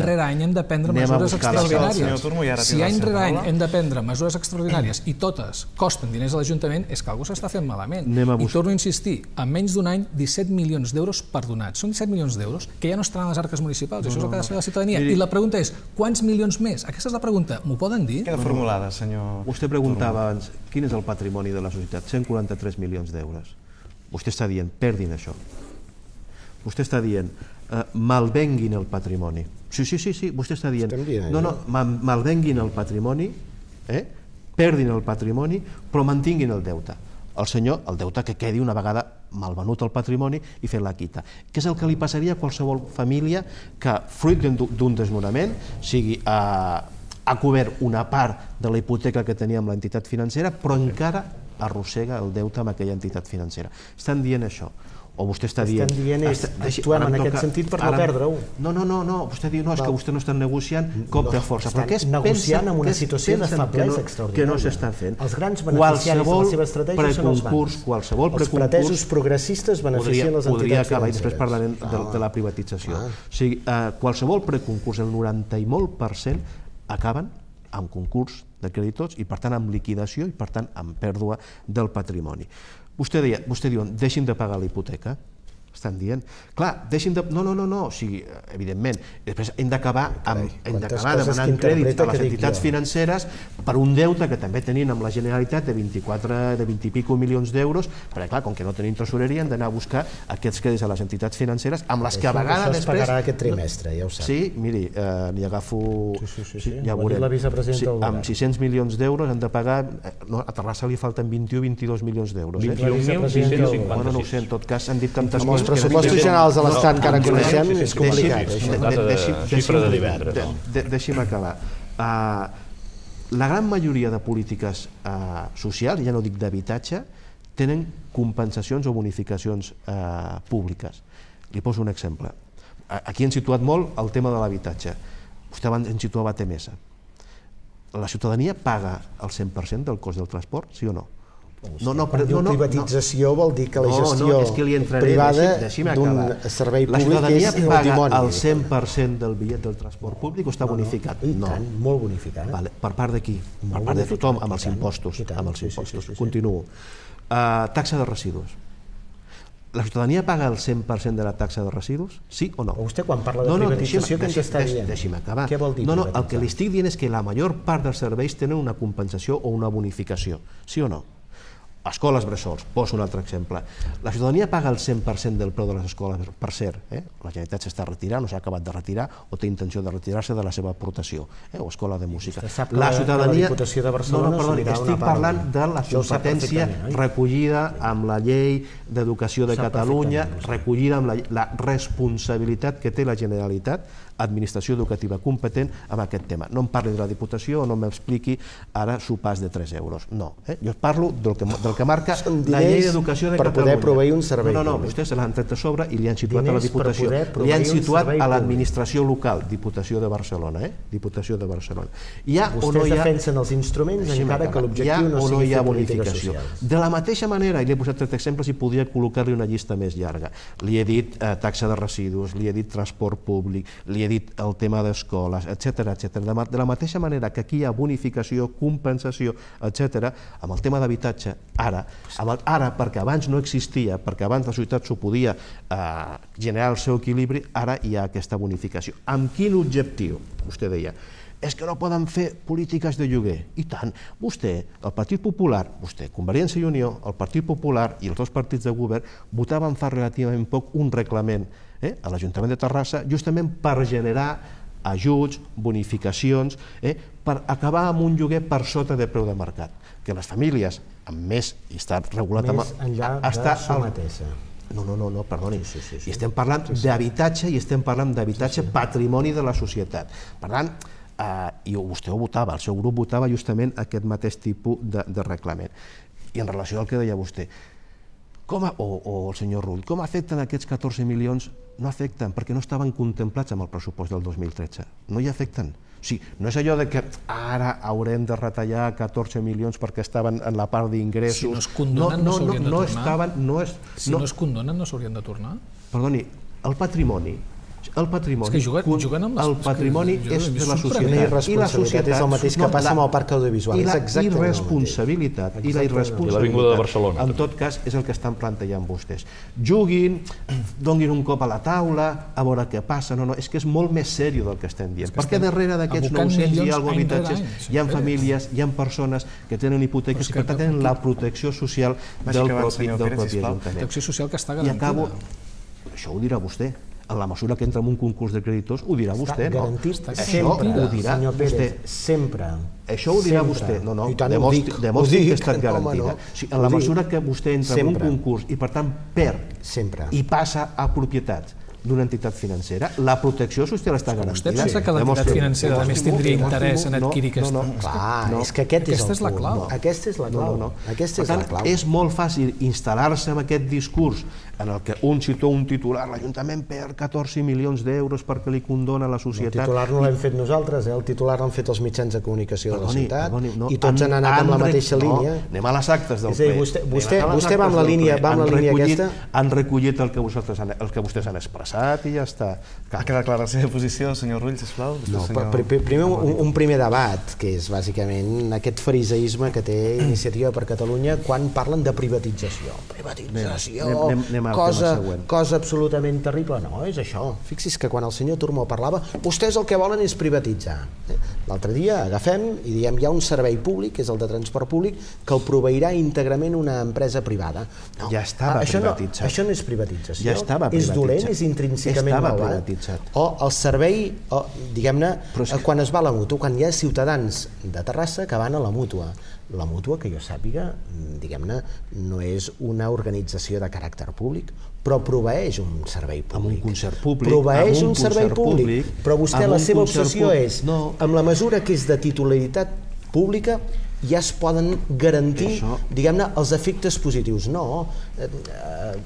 rere any hem de prendre mesures extraordinàries. Si any rere any hem de prendre mesures extraordinàries i totes costen diners a l'Ajuntament, és que algú s'està fent malament. I torno a insistir, en menys d'un any, 17 milions d'euros perdonats. Són 17 milions d'euros que ja no estaran a les arques municipals, això és el que ha de saber la ciutadania. I la pregunta és, quants milions més? Aquesta és la pregunta. M'ho poden dir? Queda formulada, senyor... Vostè preguntava abans, quin és el patrimoni de la societat? 143 milions d'euros. Vostè està dient, perdin això. Vostè està dient, malvenguin el patrimoni. Sí, vostè està dient, malvenguin el patrimoni, perdin el patrimoni, però mantinguin el deute. El deute que quedi una vegada malvenut el patrimoni i fer la quita. Què és el que li passaria a qualsevol família que, fruit d'un desnonament, sigui ha cobert una part de la hipoteca que tenia amb l'entitat financera, però encara arrossega el deute amb aquella entitat financera. Estan dient això. O vostè està dient... Actuem en aquest sentit per no perdre-ho. No, vostè diu, és que vostè no està negociant cop de força. Estan negociant en una situació de feblesa extraordinària. Que no s'estan fent. Els grans beneficiaris de la seva estratègia són els bancs. Els pretesos progressistes beneficien les entitats financeres. Podria acabar, i després parlarem de la privatització. O sigui, qualsevol preconcurs, el 90 i molt % acaben amb concurs de creditors i, per tant, amb liquidació i, per tant, amb pèrdua del patrimoni. Vostè diu, deixin de pagar la hipoteca. Estan dient, clar, deixin de... No, o sigui, evidentment, després hem d'acabar demanant crèdits a les entitats financeres per un deute que també tenien amb la Generalitat de 20 i pico milions d'euros, perquè clar, com que no tenim tresoreria, hem d'anar a buscar aquests crèdits a les entitats financeres, amb les que a vegades després... Això es pagarà aquest trimestre, ja ho sap. Sí, miri, n'hi agafo... Ja ho ha dit la vicepresidenta del govern. Amb 600 milions d'euros han de pagar... A Terrassa li falten 21-22 milions d'euros. 21.656. Bueno, no ho sé, en tot cas, han dit tantes coses... Els pressupostos generals de l'Estat que ara coneixem és complicat. Deixi'm acabar. La gran majoria de polítiques socials, ja no dic d'habitatge, tenen compensacions o bonificacions públiques. Li poso un exemple. Aquí hem situat molt el tema de l'habitatge. Vostè abans en situava TMS. La ciutadania paga el 100% del cost del transport, sí o no? Quan diu privatització vol dir que la gestió privada d'un servei públic és el dimoni. La ciutadania paga el 100% del bitllet del transport públic o està bonificat? No, molt bonificat. Per part de qui? Per part de tothom, amb els impostos. Continuo. Taxa de residus. La ciutadania paga el 100% de la taxa de residus? Sí o no? Vostè quan parla de privatització què ens està dient? Deixi'm acabar. Què vol dir privatitzar? El que li estic dient és que la major part dels serveis tenen una compensació o una bonificació. Sí o no? Escoles bressols, poso un altre exemple. La ciutadania paga el 100% del preu de les escoles, per cert, la Generalitat s'està retirant, no s'ha acabat de retirar, o té intenció de retirar-se de la seva aportació, o escola de música. Sap que la Diputació de Barcelona estic parlant de la competència recollida amb la llei d'educació de Catalunya, recollida amb la responsabilitat que té la Generalitat, administració educativa competent, amb aquest tema. No em parli de la Diputació o no m'expliqui ara sopars de 3 euros. No, jo parlo del que marca la llei d'educació de Catalunya. Per poder proveir un servei públic. No, vostès se l'han tret a sobre i li han situat a la Diputació. Li han situat a l'administració local, Diputació de Barcelona. Diputació de Barcelona. Vostès defensen els instruments encara que l'objectiu no sigui fer polítiques socials. De la mateixa manera, i li he posat 3 exemples i podria col·locar-li una llista més llarga. Li he dit taxa de residus, li he dit transport públic, li he he dit el tema d'escoles, etc. De la mateixa manera que aquí hi ha bonificació, compensació, etc., amb el tema d'habitatge, ara, perquè abans no existia, perquè abans la societat s'ho podia generar el seu equilibri, ara hi ha aquesta bonificació. Amb quin objectiu? Vostè deia, és que no poden fer polítiques de lloguer. I tant, vostè, el Partit Popular, vostè, Convergència i Unió, el Partit Popular i els dos partits de govern votaven fa relativament poc un reglament a l'Ajuntament de Terrassa justament per generar ajuts, bonificacions, per acabar amb un lloguer per sota de preu de mercat. Que les famílies amb més, i està regulat més enllà de Somatesa. No, perdoni. I estem parlant d'habitatge i estem parlant d'habitatge patrimoni de la societat. Per tant, i vostè ho votava, el seu grup votava justament aquest mateix tipus de reglament. I en relació al que deia vostè, o el senyor Rull, com afecten aquests 14 milions? No afecten, perquè no estaven contemplats amb el pressupost del 2013. No hi afecten. O sigui, no és allò que ara haurem de retallar 14 milions perquè estaven en la part d'ingressos. Si no es condonen, no s'haurien de tornar. Si no es condonen, no s'haurien de tornar. Perdoni, el patrimoni el patrimoni és de la societat. I la societat és el mateix que passa amb el parc audiovisual. I la irresponsabilitat i l'Avinguda de Barcelona, en tot cas, és el que estan plantejant vostès. Juguin, donin un cop a la taula, a veure què passa. No, és que és molt més seriós del que estem dient. Perquè darrere d'aquests 900 i alguna habitatges hi ha famílies, hi ha persones que tenen hipoteques i per tant tenen la protecció social del propi Ajuntament. Protecció social que està garantida. I acabo, això ho dirà vostè. En la mesura que entra en un concurs de creditors, ho dirà vostè, no? Garantit sempre, senyor Pérez, sempre. Això ho dirà vostè. No, demostri que ha estat garantida. En la mesura que vostè entra en un concurs i, per tant, perd i passa a propietat d'una entitat financera, la protecció social està garantida. Vostè pensa que l'entitat financera a més tindria interès en adquirir aquesta? Clar, és que aquesta és la clau. Aquesta és la clau. Per tant, és molt fàcil instal·lar-se en aquest discurs en el que un situa un titular, l'Ajuntament perd 14 milions d'euros perquè li condona la societat. El titular no l'hem fet nosaltres, el titular l'han fet els mitjans de comunicació de la ciutat i tots han anat amb la mateixa línia. Anem a les actes del ple. Vostè va amb la línia aquesta? Han recollit el que vostès han expressat i ja està. Ha quedat clara la seva posició, senyor Rull, sisplau? Primer, un primer debat, que és bàsicament aquest fariseisme que té Iniciativa per Catalunya quan parlen de privatització. Privatització, cosa absolutament terrible. No, és això. Fixi's que quan el senyor Turmó parlava, vostès el que volen és privatitzar. L'altre dia agafem i diem hi ha un servei públic, que és el de transport públic, que el proveirà íntegrament una empresa privada. Ja estava privatitzat. Això no és privatització. Ja estava privatitzat. És dolent, és intrínsecament malvat. O el servei, diguem-ne, quan es va a la mútua, quan hi ha ciutadans de Terrassa que van a la mútua. La mútua, que jo sàpiga, diguem-ne, no és una organització de caràcter públic, però proveeix un servei públic. Amb un concert públic. Proveeix un servei públic, però vostè la seva obsessió és, amb la mesura que és de titularitat pública, ja es poden garantir, diguem-ne, els efectes positius. No,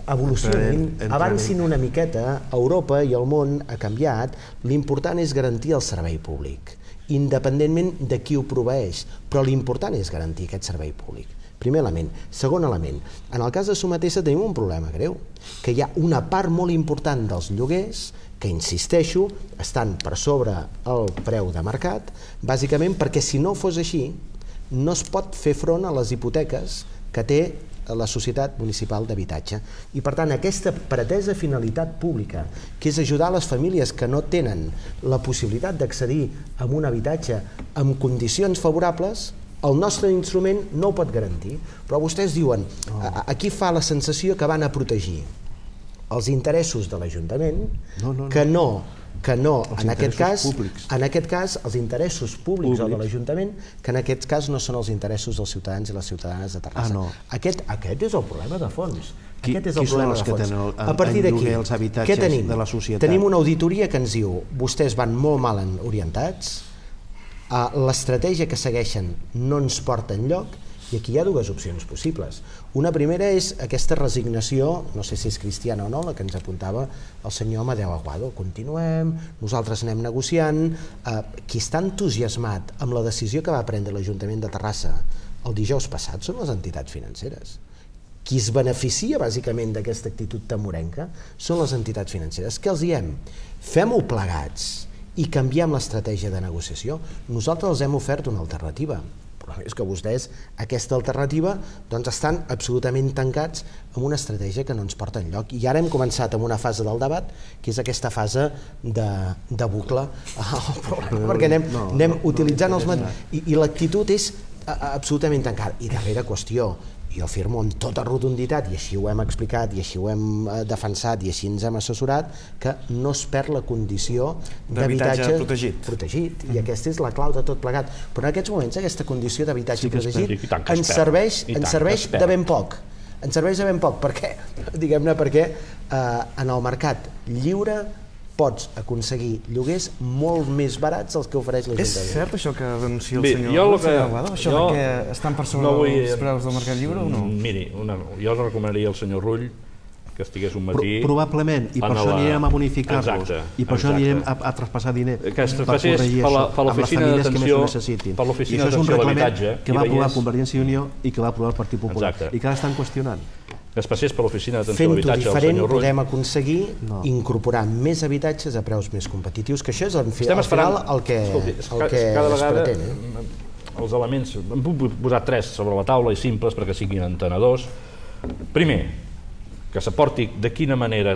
evolucionin, avancin una miqueta. Europa i el món ha canviat, l'important és garantir el servei públic, independentment de qui ho proveeix, però l'important és garantir aquest servei públic. Primer element. Segon element, en el cas de Somatesa tenim un problema greu, que hi ha una part molt important dels lloguers que, insisteixo, estan per sobre el preu de mercat, bàsicament perquè si no fos així, no es pot fer front a les hipoteques que té la Societat Municipal d'Habitatge. I, per tant, aquesta pretesa finalitat pública, que és ajudar les famílies que no tenen la possibilitat d'accedir a un habitatge amb condicions favorables, el nostre instrument no ho pot garantir. Però vostès diuen, aquí fa la sensació que van a protegir els interessos de l'Ajuntament, que no, en aquest cas, els interessos públics o de l'Ajuntament, que en aquest cas no són els interessos dels ciutadans i les ciutadanes de Terrassa. Aquest és el problema de fons. Aquest és el problema de fons. A partir d'aquí, què tenim? Tenim una auditoria que ens diu, vostès van molt mal orientats, l'estratègia que segueixen no ens porta enlloc, i aquí hi ha dues opcions possibles. Una primera és aquesta resignació, no sé si és cristiana o no, la que ens apuntava el senyor Amadeu Aguado. Continuem, nosaltres anem negociant. Qui està entusiasmat amb la decisió que va prendre l'Ajuntament de Terrassa el dijous passat són les entitats financeres. Qui es beneficia bàsicament d'aquesta actitud tamorenca són les entitats financeres. Què els diem? Fem-ho plegats i canviem l'estratègia de negociació. Nosaltres els hem ofert una alternativa, però és que vostès aquesta alternativa doncs estan absolutament tancats amb una estratègia que no ens porta enlloc. I ara hem començat amb una fase del debat, que és aquesta fase de bucle, perquè anem utilitzant els... I l'actitud és absolutament tancada. I darrera qüestió, jo afirmo amb tota rotunditat, i així ho hem explicat, i així ho hem defensat, i així ens hem assessorat, que no es perd la condició d'habitatge protegit. I aquesta és la clau de tot plegat. Però en aquests moments aquesta condició d'habitatge protegit ens serveix de ben poc. Ens serveix de ben poc. Per què? Diguem-ne perquè en el mercat lliure pots aconseguir lloguers molt més barats dels que ofereix l'Ajuntament. És cert això que denuncia el senyor Aguado? Això que estan per sobre dels preus del mercat lliure o no? Miri, jo recomanaria al senyor Rull que estigués un matí... Probablement, i per això anirem a bonificar-los, i per això anirem a traspassar diner que es passés per l'oficina d'atenció a l'habitatge, que va aprovar Convergència i Unió i que va aprovar el Partit Popular, i que ara estan qüestionant. Que es passés per l'oficina d'atenció a l'habitatge del senyor Rull. Podem aconseguir incorporar més habitatges a preus més competitius, que això és al final el que es pretén. Els elements, en puc posar 3 sobre la taula i simples perquè siguin entenedors. Primer, que s'aporti de quina manera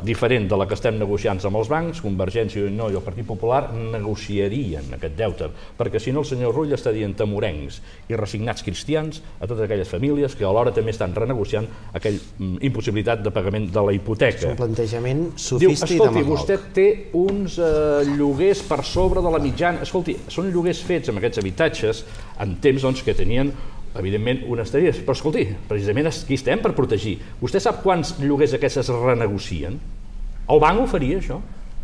diferent de la que estem negociant amb els bancs, Convergència i Unió i el Partit Popular negociarien aquest deute, perquè si no el senyor Rull està dient tamorencs i resignats cristians a totes aquelles famílies que alhora també estan renegociant aquella impossibilitat de pagament de la hipoteca. És un plantejament sofista i demagog. Escolti, vostè té uns lloguers per sobre de la mitjana. Escolti, són lloguers fets amb aquests habitatges en temps que tenien evidentment unes tarifes, però escolti, precisament aquí estem per protegir. Vostè sap quants lloguers aquests es renegocien? El banc ho faria, això?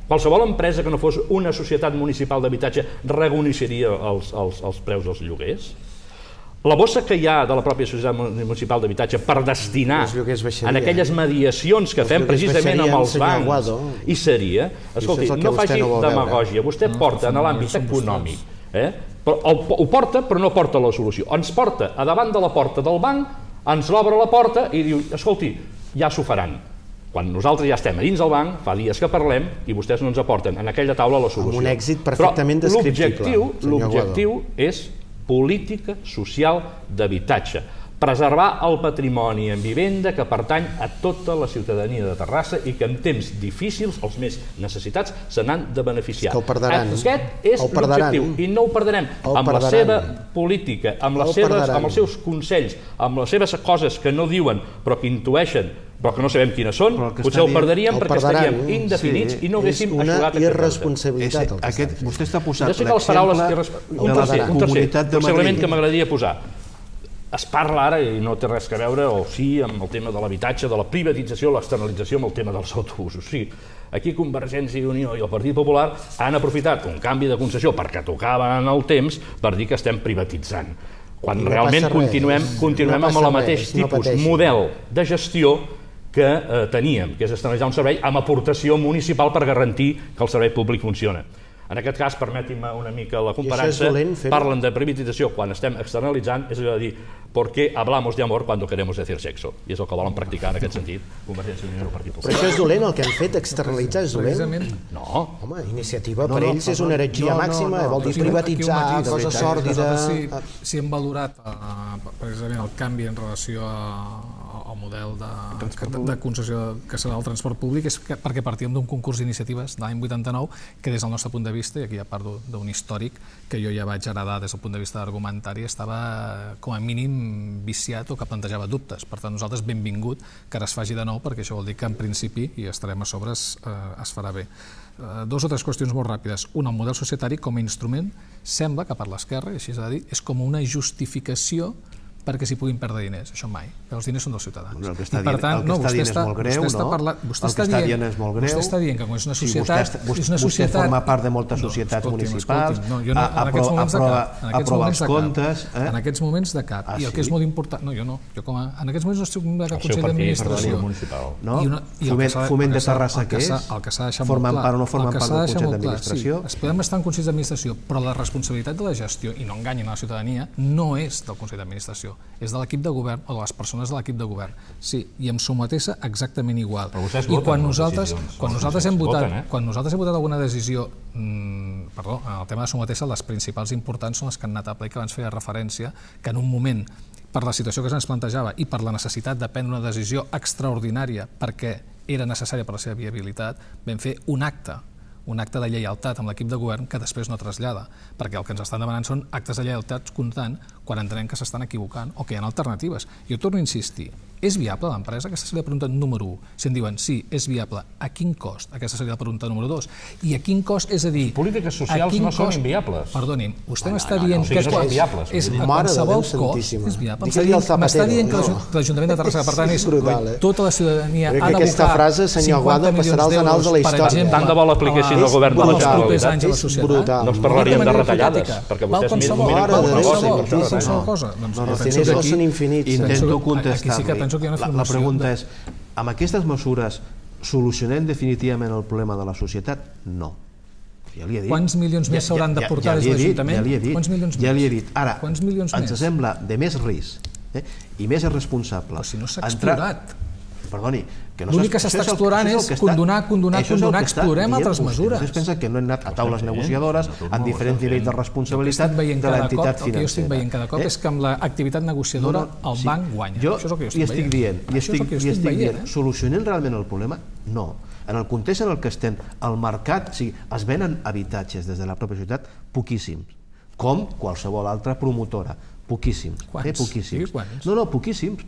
Qualsevol empresa que no fos una societat municipal d'habitatge renegociaria els preus dels lloguers? La bossa que hi ha de la pròpia societat municipal d'habitatge per destinar en aquelles mediacions que fem precisament amb els bancs, i seria, escolti, no faci demagògia, vostè porta en l'àmbit econòmic, ho porta però no porta la solució, ens porta a davant de la porta del banc, ens l'obre la porta i diu, escolti, ja s'ho faran, quan nosaltres ja estem a dins del banc, fa dies que parlem i vostès no ens aporten en aquella taula la solució. Amb un èxit perfectament descriptible. L'objectiu és política social d'habitatge, preservar el patrimoni en vivenda que pertany a tota la ciutadania de Terrassa i que en temps difícils els més necessitats se n'han de beneficiar. Aquest és l'objectiu i no ho perdrem amb la seva política, amb els seus consells, amb les seves coses que no diuen però que intueixen però que no sabem quines són, potser el perdríem perquè estaríem indefinits i no haguéssim eixugat aquest. Vostè està posant un tercer element que m'agradaria posar. Es parla ara, i no té res a veure, o sí, amb el tema de l'habitatge, de la privatització, l'externalització, amb el tema dels autobusos. Sí, aquí Convergència i Unió i el Partit Popular han aprofitat un canvi de concessió perquè tocava en el temps per dir que estem privatitzant. Quan realment continuem amb el mateix tipus, model de gestió que teníem, que és externalitzar un servei amb aportació municipal per garantir que el servei públic funciona. En aquest cas, permetin-me una mica la comparança, parlen de privatització quan estem externalitzant, és a dir, ¿por qué hablamos de amor cuando queremos decir sexo? I és el que volen practicar en aquest sentit Convergència i Unió i el Partit Popular. Però això és dolent, el que han fet, externalitzar és dolent? No. Home, iniciativa per ells és una heretgia màxima, vol dir privatitzar, cosa sòrdida... Si hem valorat precisament el canvi en relació al model de concessió que serà el transport públic és perquè partíem d'un concurs d'iniciatives de l'any 89 que des del nostre punt de vista, i aquí ja parlo d'un històric que jo ja vaig heredar des del punt de vista argumentari, estava com a mínim viciat o que plantejava dubtes. Per tant, nosaltres benvingut que ara es faci de nou perquè això vol dir que en principi, i estarem a sobre, es farà bé. Dos o tres qüestions molt ràpides. Un, el model societari com a instrument sembla que per l'esquerra, i així s'ha de dir, és com una justificació perquè s'hi puguin perdre diners, això mai. Els diners són dels ciutadans. El que està dient és molt greu, no? Vostè està dient que com és una societat... Vostè forma part de moltes societats municipals, aprova els comptes... En aquests moments de cap. I el que és molt important... No, jo no. En aquests moments no estic de cap Consell d'Administració. Foment de Terrassa, què és? Formen part o no formen part del Consell d'Administració? Es podem estar en Consells d'Administració, però la responsabilitat de la gestió, i no enganyin a la ciutadania, no és del Consell d'Administració. és de l'equip de govern o de les persones de l'equip de govern. Sí, i amb Somatessa exactament igual. Però vostès I voten quan les decisions. quan nosaltres hem Voten, votat alguna decisió, perdó, en el tema de Somatessa, les principals importants són les que han anat a ple, que abans feia referència, que en un moment, per la situació que se'ns plantejava i per la necessitat de prendre una decisió extraordinària perquè era necessària per la seva viabilitat, vam fer un acte de lleialtat amb l'equip de govern que després no trasllada, perquè el que ens estan demanant són actes de lleialtat constant quan entenem que s'estan equivocant o que hi ha alternatives. Jo torno a insistir, és viable l'empresa? Aquesta seria la pregunta número 1. Si em diuen sí, és viable, a quin cost? Aquesta seria la pregunta número 2. I a quin cost, és a dir... Les polítiques socials no són inviables. Perdonin, vostè m'està dient que és a qualsevol cost és viable. M'està dient que l'Ajuntament de Terrassa, per tant, és tota la ciutadania ha d'abocar 50 milions d'euros, per exemple, tant de bo l'apliquessin al govern de la Generalitat, no ens parlaríem de retallades, perquè vostès miren cosa. Els diners no són infinits. Intento contestar-li. La pregunta és, amb aquestes mesures solucionem definitivament el problema de la societat? No. Ja li he dit. Quants milions més s'hauran de portar des de l'Ajuntament? Ja li he dit. Ara, ens sembla de més risc i més irresponsable. Però si no s'ha explorat. Perdoni, l'únic que s'està explorant és condonar, explorem altres mesures. Vostès pensen que no hem anat a taules negociadores amb diferents nivells de responsabilitat de l'entitat financera. El que jo estic veient cada cop és que amb l'activitat negociadora el banc guanya. Jo li estic dient, solucionem realment el problema? No. En el context en el que estem, el mercat, es venen habitatges des de la pròpia ciutat poquíssims, com qualsevol altra promotora. Poquíssims. Poquíssims? No, poquíssims.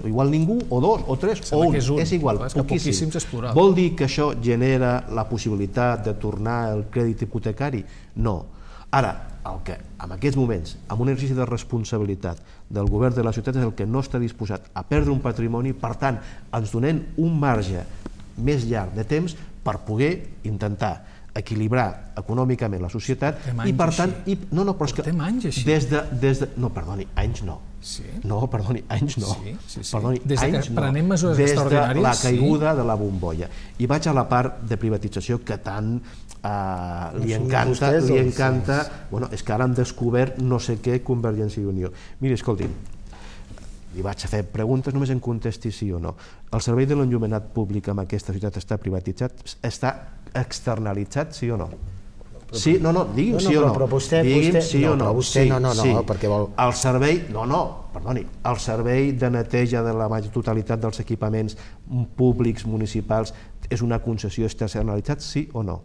Igual ningú, o dos, o tres, o un. És igual, poquíssims. Vol dir que això genera la possibilitat de tornar el crèdit hipotecari? No. Ara, el que en aquests moments, amb un exercici de responsabilitat del govern de la ciutat, és el que no està disposat a perdre un patrimoni, per tant, ens donem un marge més llarg de temps per poder intentar equilibrar econòmicament la societat i per tant... No, però és que des de... No, perdoni, anys no. No, perdoni, anys no. Des que prenem mesures extraordinàries... Des de la caiguda de la bombolla. I vaig a la part de privatització que tant li encanta... Bueno, és que ara han descobert no sé què Convergència i Unió. Miri, escolti'm, li vaig a fer preguntes, només em contesti sí o no. El servei de l'enllumenat públic en aquesta ciutat està privatitzat? Està externalitzat, sí o no? Sí, no, digui'm sí o no. Digui'm sí o no. No, perquè vol... El servei, perdoni, el servei de neteja de la totalitat dels equipaments públics, municipals, és una concessió externalitzat, sí o no?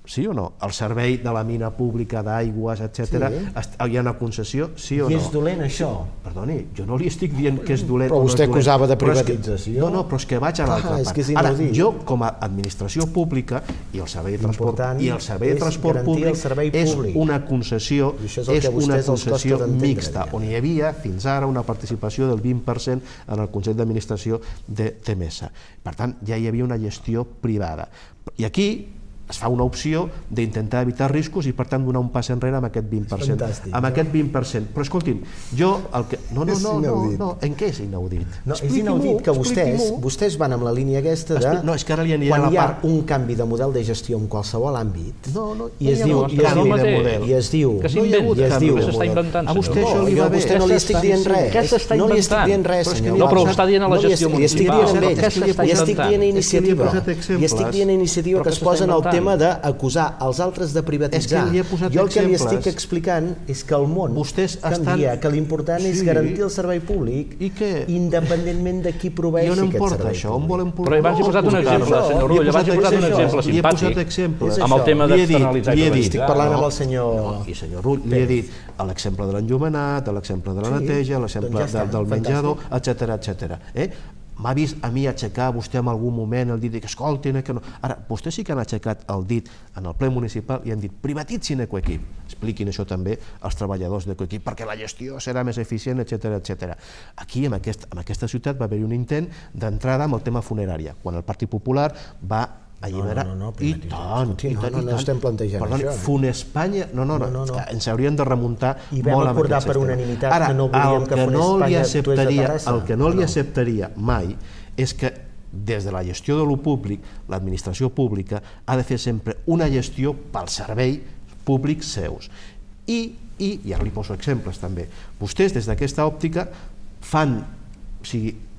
Sí o no? El servei de la mina pública d'aigües, etc. Hi ha una concessió, sí o no? I és dolent això? Perdoni, jo no li estic dient que és dolent. Però vostè acusava de privatització. No, però és que vaig a l'altra part. Ara, jo com a administració pública i el servei de transport públic és una concessió mixta, on hi havia fins ara una participació del 20% en el Consell d'Administració de Temesa. Per tant, ja hi havia una gestió privada. I aquí es fa una opció d'intentar evitar riscos i per tant donar un pas enrere amb aquest 20%. Amb aquest 20%. Però escolti'm, jo el que... No, en què és inaudit? No, és inaudit que vostès van amb la línia aquesta de... No, és que ara li anirà quan la hi ha part... un canvi de model de gestió en qualsevol àmbit i es diu... Que s'inventa, que s'està inventant. A vostè això li va bé. Vostè no li estic dient res. Què s'està inventant? No li estic dient res, senyor. No, però ho està dient a la gestió municipal. Li estic dient a Iniciativa. Li estic dient a Iniciativa que es posen al tema d'acusar els altres de privatitzar. Jo el que li estic explicant és que el món canvia, que l'important és garantir el servei públic independentment de qui proveeixi aquest servei públic. Però abans he posat un exemple, senyor Rull, abans he posat un exemple simpàtic amb el tema d'externalitzar. Estic parlant amb el senyor... I senyor Rull, li he dit l'exemple de l'enllumenat, l'exemple de la neteja, l'exemple del menjador, etc. M'ha vist a mi aixecar vostè en algun moment el dit que escoltin, que no... Ara, vostès sí que han aixecat el dit en el ple municipal i han dit privatitzin Ecoequip. Expliquin això també als treballadors d'Ecoequip perquè la gestió serà més eficient, etc. Aquí, en aquesta ciutat, va haver-hi un intent d'entrada amb el tema funerària, quan el Partit Popular va alliberar... I tant. No estem plantejant això. Funespanya... No, ens hauríem de remuntar molt amb aquest sistema. I vam acordar per unanimitat que no volíem que Funespanya actués a Terrassa. El que no li acceptaria mai és que des de la gestió de lo públic, l'administració pública ha de fer sempre una gestió pel servei públic seus. I ara li poso exemples també. Vostès, des d'aquesta òptica,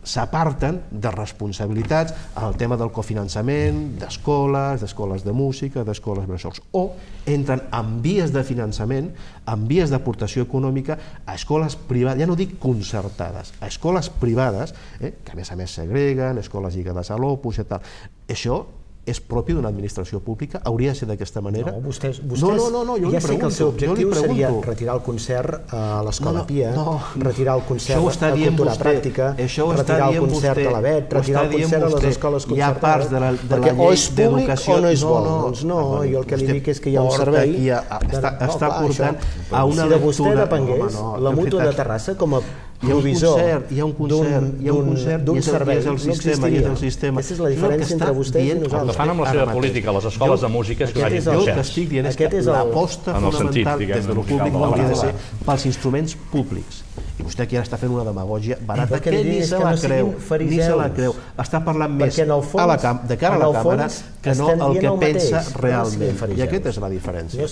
s'aparten de responsabilitats en el tema del cofinançament, d'escoles de música, d'escoles bressols, o entren en vies de finançament, en vies d'aportació econòmica a escoles privades, ja no dic concertades, a escoles privades, que a més segreguen, escoles lligades a l'Opus i tal. Això és propi d'una administració pública? Hauria de ser d'aquesta manera? No, vostès ja sé que el seu objectiu seria retirar el concert a l'Escola Pia, retirar el concert a Cultura Pràctica, retirar el concert a l'ABET, retirar el concert a les escoles concertades, perquè o és públic o no és bo. Doncs no, jo el que li dic és que hi ha un servei... Està portant a una lectura... Si de vostè depengués, la Mútua de Terrassa, com a provisor d'un servei, no existiria. Aquesta és la diferència entre vostès i nosaltres. El que fan amb la seva política a les escoles de música és que vagin jo el que estic dient és que l'aposta fonamental des de lo públic hauria de ser pels instruments públics. I vostè aquí ara està fent una demagògia barata que ni se la creu. Està parlant més de cara a la càmera que no el que pensa realment. I aquesta és la diferència.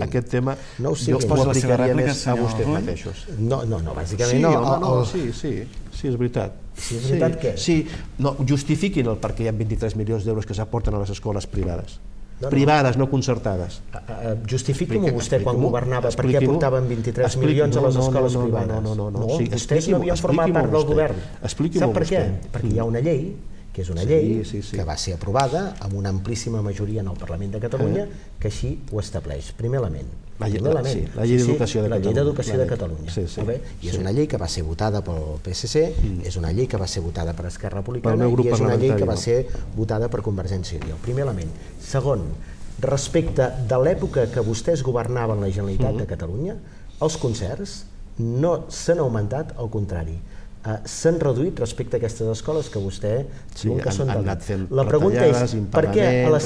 Aquest tema jo ho aplicaria més a vostès mateixos. No, bàsicament no. Sí, és veritat. Sí, és veritat què? Sí, justifiquin el perquè hi ha 23 milions d'euros que s'aporten a les escoles privades. Privades, no concertades. Justifiqui-m'ho vostè quan governava per què aportaven 23 milions a les escoles privades. No, vostès no havien format part del govern. Sap per què? Perquè hi ha una llei, que és una llei que va ser aprovada amb una amplíssima majoria en el Parlament de Catalunya, que així ho estableix. Primer element. La llei d'educació de Catalunya. La llei d'educació de Catalunya. I és una llei que va ser votada pel PSC, és una llei que va ser votada per Esquerra Republicana i és una llei que va ser votada per Convergència i Unió. Primer element. Segon, respecte de l'època que vostès governaven la Generalitat de Catalunya, els concerts no s'han augmentat, al contrari. S'han reduït respecte a aquestes escoles que vostè diu que són del dit. La pregunta és, per què a la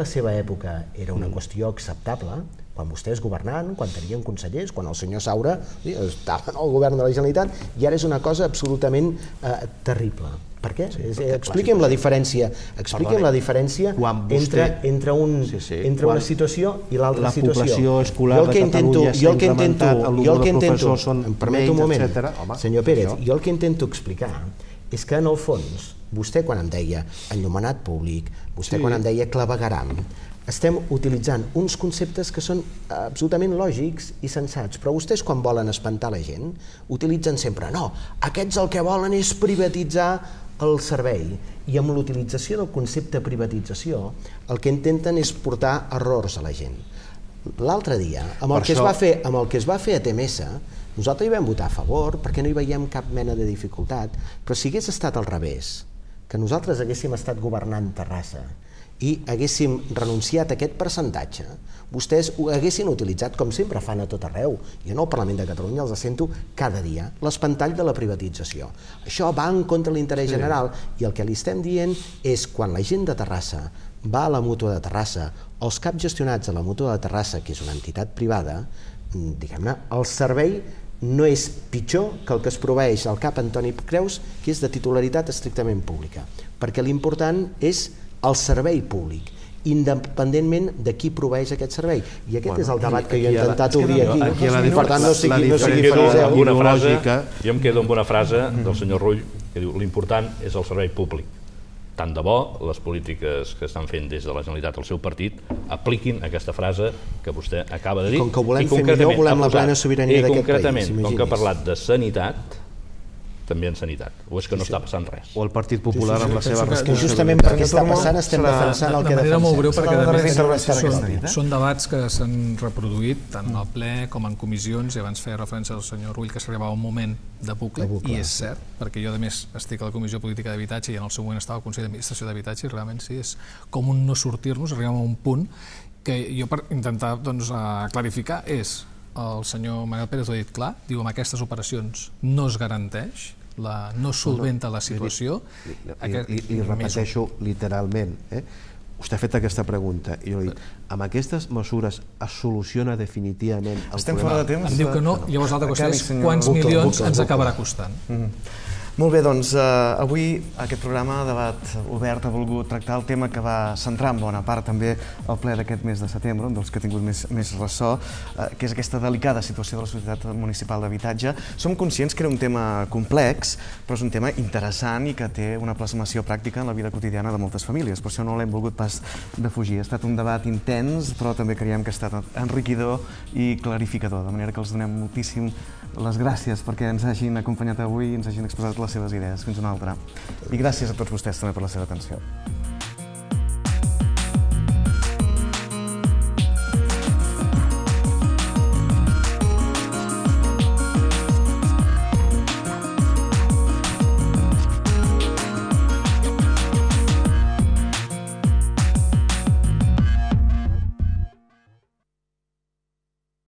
seva època era una qüestió acceptable, quan vostès governaven, quan tenien consellers, quan el senyor Saura estava en el govern de la Generalitat, i ara és una cosa absolutament terrible. Per què? Expliqui'm la diferència entre una situació i l'altra situació. La població escolar de Catalunya s'ha incrementat, el nombre de professors són menys, etc. Senyor Pérez, jo el que intento explicar és que en el fons, vostè quan em deia enllumenat públic, vostè quan em deia clavegueram, estem utilitzant uns conceptes que són absolutament lògics i sensats, però vostès quan volen espantar la gent utilitzen sempre, no, aquests el que volen és privatitzar el servei, i amb l'utilització del concepte privatització el que intenten és portar errors a la gent. L'altre dia, amb el que es va fer a TMS, nosaltres hi vam votar a favor perquè no hi veiem cap mena de dificultat, però si hagués estat al revés, que nosaltres haguéssim estat governant Terrassa i haguéssim renunciat a aquest percentatge, vostès ho haguessin utilitzat, com sempre fan a tot arreu. Jo en el Parlament de Catalunya els sento cada dia, l'espantall de la privatització. Això va en contra de l'interès general, i el que li estem dient és quan la gent de Terrassa va a la Mútua de Terrassa, els caps gestionats a la Mútua de Terrassa, que és una entitat privada, diguem-ne, el servei no és pitjor que el que es proveeix al CAP Antoni Creus, que és de titularitat estrictament pública, perquè l'important és el servei públic, independentment de qui proveeix aquest servei. I aquest és el debat que jo he intentat obrir aquí. Per tant, no sigui fariseu. Jo em quedo amb una frase del senyor Rull que diu: l'important és el servei públic. Tant de bo les polítiques que estan fent des de la Generalitat el seu partit apliquin aquesta frase que vostè acaba de dir. Com que ho volem fer millor, volem la plena sobirania d'aquest país. I concretament, com que ha parlat de sanitat, també en sanitat, o és que no està passant res. O el Partit Popular amb la seva responsabilitat. Justament perquè està passant estem defensant el que defensem. De manera molt breu, perquè són debats que s'han reproduït tant al ple com en comissions, i abans feia referència al senyor Rull que s'arribava un moment de bucle, i és cert, perquè jo a més estic a la Comissió Política d'Habitatge i en el seu moment estava al Consell d'Administració d'Habitatge, i realment sí, és com un no sortir-nos, arribem a un punt que jo, per intentar clarificar, és el senyor Manel Pérez ho ha dit clar, diu amb aquestes operacions no es garanteix, no solventa la situació. Li repeteixo literalment, vostè ha fet aquesta pregunta i jo he dit, amb aquestes mesures es soluciona definitivament el problema? Estem fora de temps. Em diu que no, llavors l'altra qüestió és quants milions ens acabarà costant. Molt bé, doncs avui aquest programa Debat Obert ha volgut tractar el tema que va centrar en bona part també el ple d'aquest mes de setembre, un dels que ha tingut més ressò, que és aquesta delicada situació de la Societat Municipal d'Habitatge. Som conscients que era un tema complex, però és un tema interessant i que té una plasmació pràctica en la vida quotidiana de moltes famílies. Per això no l'hem volgut pas defugir. Ha estat un debat intens, però també creiem que ha estat enriquidor i clarificador, de manera que els donem moltíssim les gràcies perquè ens hagin acompanyat avui i ens hagin exposat les seves idees. Fins una altra. I gràcies a tots vostès també per la seva atenció.